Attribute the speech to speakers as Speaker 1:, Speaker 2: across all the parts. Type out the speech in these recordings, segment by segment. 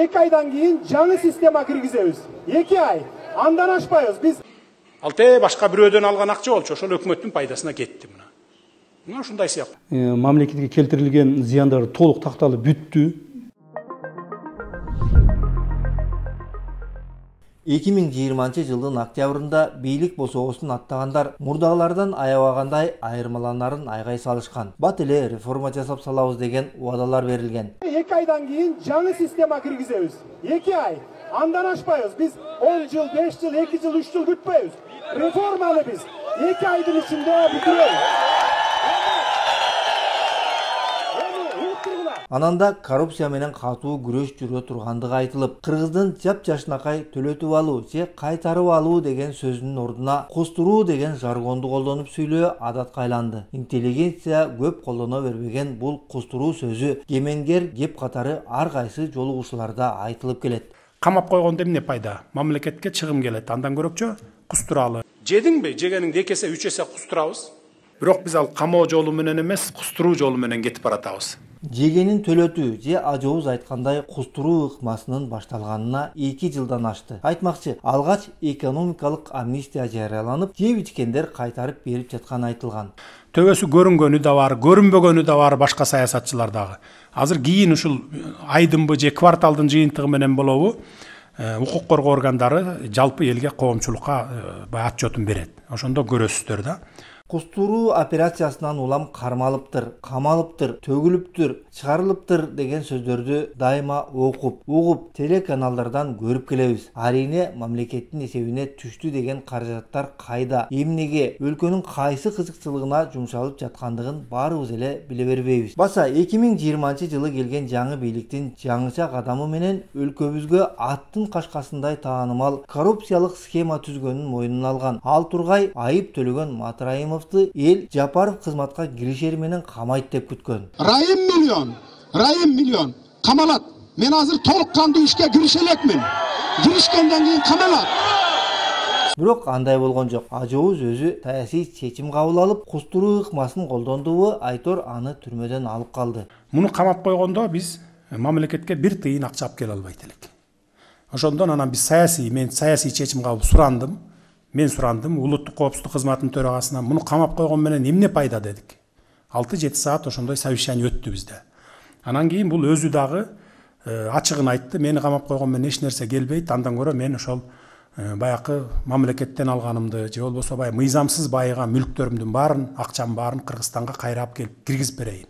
Speaker 1: 2 айдан кийин жаңы система киргизебиз. 2 ай. Андан ашпайбыз. Биз
Speaker 2: башка бирөөдөн алган акча болчу, ошол өкмөттүн пайдасына кетти мына. Мына ушундай сыяктуу.
Speaker 3: Мамлекетке келтирилген зыяндар толук такталып бүттү.
Speaker 4: 2020 жылдын октябрында бийлик босоосун аттагандар мурдагылардан аябагандай айырмаланарын айгай салышкан. Бат эле реформа жасап салабыз деген убадалар берилген.
Speaker 1: 2 айдан кийин жаңы система киргизебиз. 2 ай. Андан ашпайбыз. Биз 10 жыл, 5 жыл, 2 жыл, 3 жыл күтпөйбүз. Реформаны биз 2 айдын ичинде бүтүрөбүз.
Speaker 4: Ананда коррупция менен катуу күрөш жүрө тургандыгы айтылып, Кыргыздын жап-жашынакай төлөтүп алуу же кайтарып алуу деген сөзүнүн ордуна кустуруу деген жаргонду колдонуп сүйлөө адатка айланды. Интеллигенция көп колдоно бербеген бул кустуруу сөзү кеменгер кеп катары ар кайсы жолугушууларда айтылып келет.
Speaker 2: Камап койгондо эмне пайда? Мамлекетке чыгым келет. Андан көрөкчө кустуралы. Жедиңби? Жегениңди 2 эсе, 3 эсе кустурабыз. Бирок биз ал камоо жолу менен эмес, кустуруу жолу менен кетип баратабыз.
Speaker 4: Жегенин төлөтүү же ажообуз айткандай кустуруу ыкмасынын башталганына 2 жылдан ашты. Айтмакчы, алгач экономикалык амнистия жарыяланып, жеп ичкендер кайтарып берип жатканы айтылган.
Speaker 2: Төбөсү көрүнгөнү да бар, көрүнбөгөнү да бар башка саясатчылар дагы. Азыр кийин ушул айдынбы же кварталдын жыйынтыгы менен болобу, укук коргоо органдары жалпы элге коомчулукка отчетун берет. Ошондо көрөсүздөр да.
Speaker 4: Кустуруу операциясынан улам кармалыптыр, камалыптыр, төгүлүптүр, чыгарылыптыр деген сөздөрдү дайыма угуп, телеканалдардан көрүп келебиз. Арийне мамлекеттин эсебине түштү деген каражаттар кайда, эмнеге, өлкөнүн кайсы кызыкчылыгына жумшалып жаткандыгын баарыбыз эле биле бербейбиз. Баса 2020 жылы келген жаңы бийликтин жаңыча кадамы менен өлкөбүзгө аттын кашкасындай таанымал коррупциялык схема түзгөнүн мойнуна алган Ал Тургай айып төлөгөн Матраимов эл Жапаров кызматка киришери менен камайт деп күткөн.
Speaker 5: Райым миллион камалат. Мен азыр толук кандуу ишке киреше элекмин. Киришкенден кийин камалат.
Speaker 4: Бирок андай болгон жок. Ажообуз өзү саясий чечим кабыл алып, кустуруу ыкмасын колдондубу, Айтор аны түрмөдөн алып калды.
Speaker 2: Муну камап койгондо биз мамлекетке бир тыйын акча алып келе албайт элек. Ошондон анан биз мен саясий чечим кабыл сурандым. Мен сурандым, улуттук коопсуздук кызматынын төрагасына, муну камап койгон менен эмне пайда дедик. 6-7 саат ошондой совещание өттү бизде. Анан кийин бул өзү дагы ачыгын айтты, мени камап койгон менен эч нерсе келбейт, андан көрө мен ошол баякы мамлекеттен алганымды, же болбосо мыйзамсыз байыган мүлктөрүмдүн баарын, акчамдын баарын Кыргызстанга кайрап келип киргизип берейин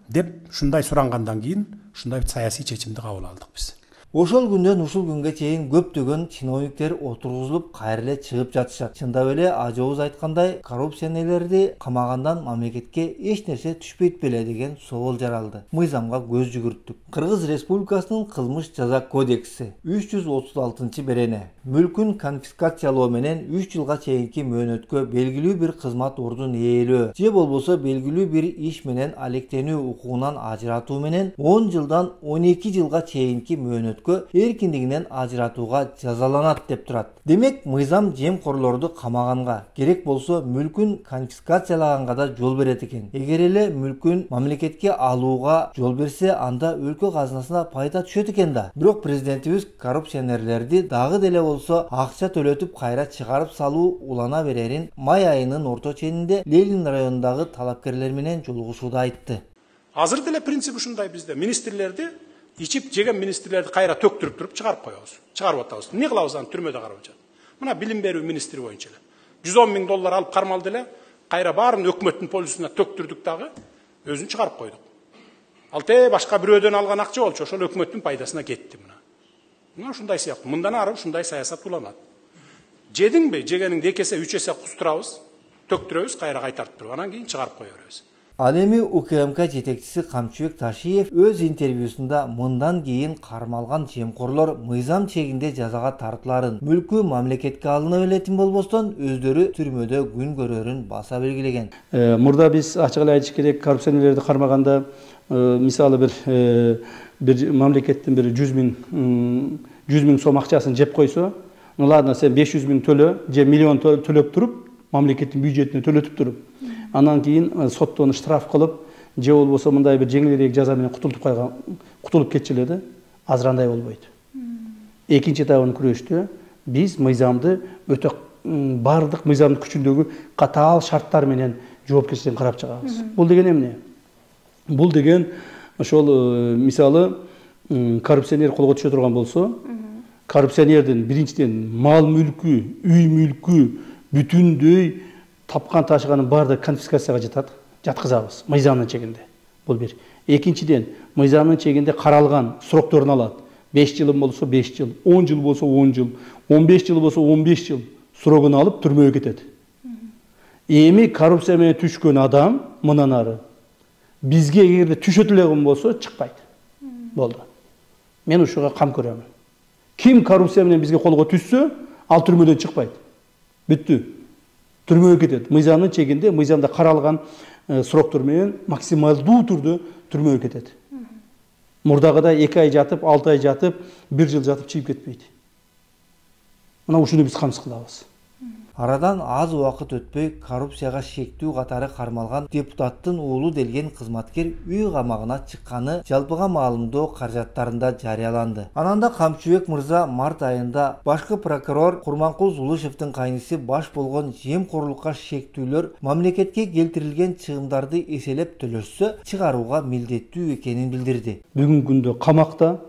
Speaker 2: деп ушундай сурангандан кийин ушундай саясий чечимди кабыл алдык биз.
Speaker 4: Ошол күндөн ушул күнгө чейин көптөгөн чиновниктер отургузулуп кайра эле чыгып жатышат. Чындап эле ажообуз айткандай, коррупционерлерди камагандан мамлекетке эч нерсе түшпөйт беле деген соол жаралды. Мыйзамга көз жүгүрттүк. Кыргыз Республикасынын кылмыш жаза кодекси 336 берене мүлкүн конфискациялоо менен 3 жылга чейинки мөөнөткө белгилүү бир кызмат ордун ээлөө же болбосо белгилүү бир иш менен алектенүү укугунан ажыратуу менен 10 жылдан 12 жылга чейинки мөөнөткө эркиндигинен ажыратууга жазаланат деп турат. Демек, мыйзам жемкорлорду камаганга, керек болсо мүлкүн конфискациялаганга да жол берет экен. Эгер эле мүлкүн мамлекетке алууга жол берсе, анда өлкө казынасына пайда түшөт экен да. Бирок президентибиз коррупционерлерди дагы деле болсо акча төлөтүп кайра чыгарып салуу улана берерин май айынын орто ченинде Ленин районундагы талапкерлер менен жолугушууда айтты.
Speaker 2: Азыр деле принцип ушундай бизде. Министрлерди ичип жеген министрлерди кайра төктүрүп туруп чыгарып коебуз. Чыгарып атабыз. Эмне кылабыз аны түрмөдө карап жатат. Мына билим берүү министри боюнча эле 110 000 доллар алып кармалды эле, кайра баарын өкмөттүн полисине төктүрдүк дагы, өзүн чыгарып койдук. Ал башка бирөөдөн алган акча болчу, ошол өкмөттүн пайдасына кетти мына. Мына ушундай сыяктуу. Мындан ары ушундай саясат уланат. Жедиңби? Жегениңди 2 эсе, 3 эсе кустурабыз, төктүрөбүз, кайра кайтарып туруп, анан кийин чыгарып кое беребиз.
Speaker 4: Ал эми УКМК жетекчиси Камчыбек Ташиев өз интервьюсунда мындан кийин кармалган жемкорлор мыйзам чегинде жазага тартыларын, мүлкү мамлекетке алына беретин болбостон өздөрү түрмөдө күн көрөрүн баса белгилеген.
Speaker 3: Мурда биз ачык эле айтыш керек, коррупционерлерди кармаганда мисалы бир мамлекеттин бир 100 000 сом акчасын жеп койсо, ладно сен 500 000 төлө же миллион төлөп туруп, мамлекеттин бюджетине төлөтүп туруп, анан кийин соттон штраф кылып, же болбосо мындай бир жеңилирээк жаза менен кутулуп кетчү эле да. азырандай болбойт. Экинчи этабын күрөштө биз мыйзамды өтө бардык мыйзамдык күчүндөгү катаал шарттар менен жоопкерчиликтерин карап чыгабыз. Бул деген эмне? Бул деген ошол мисалы коррупционер колго түшө турган болсо, коррупционердин биринчиден мал мүлкү, үй мүлкү бүтүндөй тапкан ташыганын баардыгы конфискацияга жатат, жаткызабыз мыйзамдын чегинде. Бул бир. Экинчиден, мыйзамдын чегинде каралган срокторун алат. 5 жыл болсо 5 жыл, 10 жыл болсо 10 жыл, 15 жыл болсо 15 жыл срогун алып түрмөгө кетет. Эми коррупция менен түшкөн адам мындан ары бизге эгерде түшөт эле болсо чыкпайт. Болду. Мен ушуга кам көрөмүн. Ким коррупция менен бизге колго түшсө, ал түрмөдөн чыкпайт. Бүттү. Түрмөгө кетет. Мыйзамдын чегинде, мыйзамда каралган сроктор менен максималдуу түрдө түрмөгө кетет. Мурдагыдай 2 ай жатып, 6 ай жатып, 1 жыл жатып чыгып кетпейт. Мына ушуну биз камсыз кылабыз.
Speaker 4: Арадан аз убакыт өтпөй коррупцияга шектүү катары кармалган депутаттын уулу делген кызматкер үй камагына чыкканы жалпыга маалымдоо каражаттарында жарыяланды. Анан да Камчыбек мырза март айында башкы прокурор Курманкул Зулушевдин кайнысы баш болгон жемкорлукка шектүүлөр мамлекетке келтирилген чыгымдарды эселеп төлөшсө чыгарууга милдеттүү экенин билдирди.
Speaker 3: Бүгүнкү күндө камакта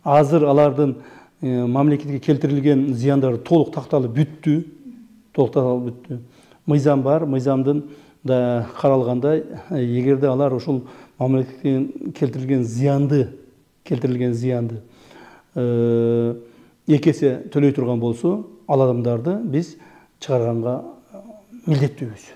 Speaker 3: азыр алардын мамлекетке келтирилген зыяндары толук такталып бүттү. Мыйзам бар, мыйзамдын да каралгандай, эгерде алар ушул мамлекетке келтирилген зыянды 2 эсе төлөй турган болсо, ал адамдарды биз чыгарганга милдеттүүбүз.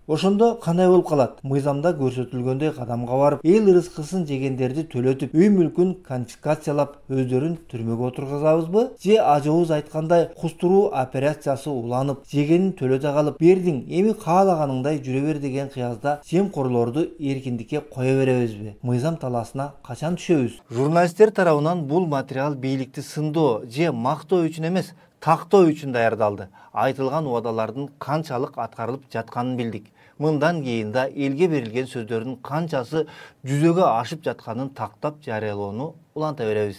Speaker 4: Ошондо кандай болуп калат? Мыйзамда көрсөтүлгөндөй кадамга барып, эл ырыскысын жегендерди төлөтүп, үй мүлкүн конфискациялап, өздөрүн түрмөгө отургузабызбы? Же ажообуз айткандай кустуруу операциясы уланып, жегенин төлөтө калып, бердиң, эми каалаганыңдай жүрө бер деген кыязда жемкорлорду эркиндикке кое беребизби? Мыйзам талаасына качан түшөбүз? Журналисттер тарабынан бул материал бийликти сындоо же мактоо үчүн эмес, тактоо үчүн даярдалды. Айтылган убадалардын канчалык аткарылып жатканын билдик. Мындан кийин да элге берилген сөздөрдүн канчасы жүзөгө ашып жатканын тактап жарыялоону уланта беребиз.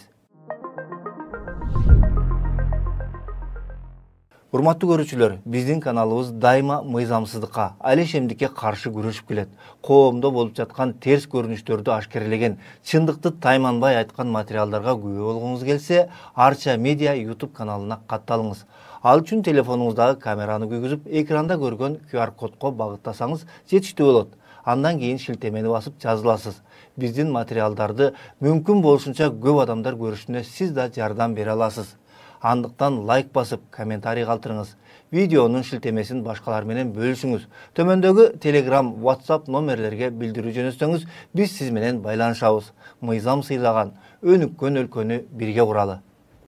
Speaker 4: Урматтуу көрүүчүлөр, биздин каналыбыз дайыма мыйзамсыздыкка, алешемдикке каршы күрөшүп келет. Коомдо болуп жаткан терс көрүнүштөрдү ашкерлеген, чындыкты тайманбай айткан материалдарга күбө болгуңуз келсе, Арча Медиа YouTube каналына катталыңыз. Ал үчүн телефонуңуздагы камераны күйгүзүп, экранда көргөн QR кодко багыттасаңыз жетиштүү болот. Андан кийин шилтемени басып жазыласыз. Биздин материалдарды мүмкүн болушунча көп адамдар көрүшүнө сиз да жардам бере аласыз. Андыктан лайк басып, комментарий калтырыңыз. Видеонун шилтемесин башкалар менен бөлүшүңүз. Төмөндөгү Telegram, WhatsApp номерлерге билдирүү жөнөтсөңүз, биз сиз менен байланышабыз. Мыйзам сыйлаган, өнүккөн өлкөнү бирге куралы.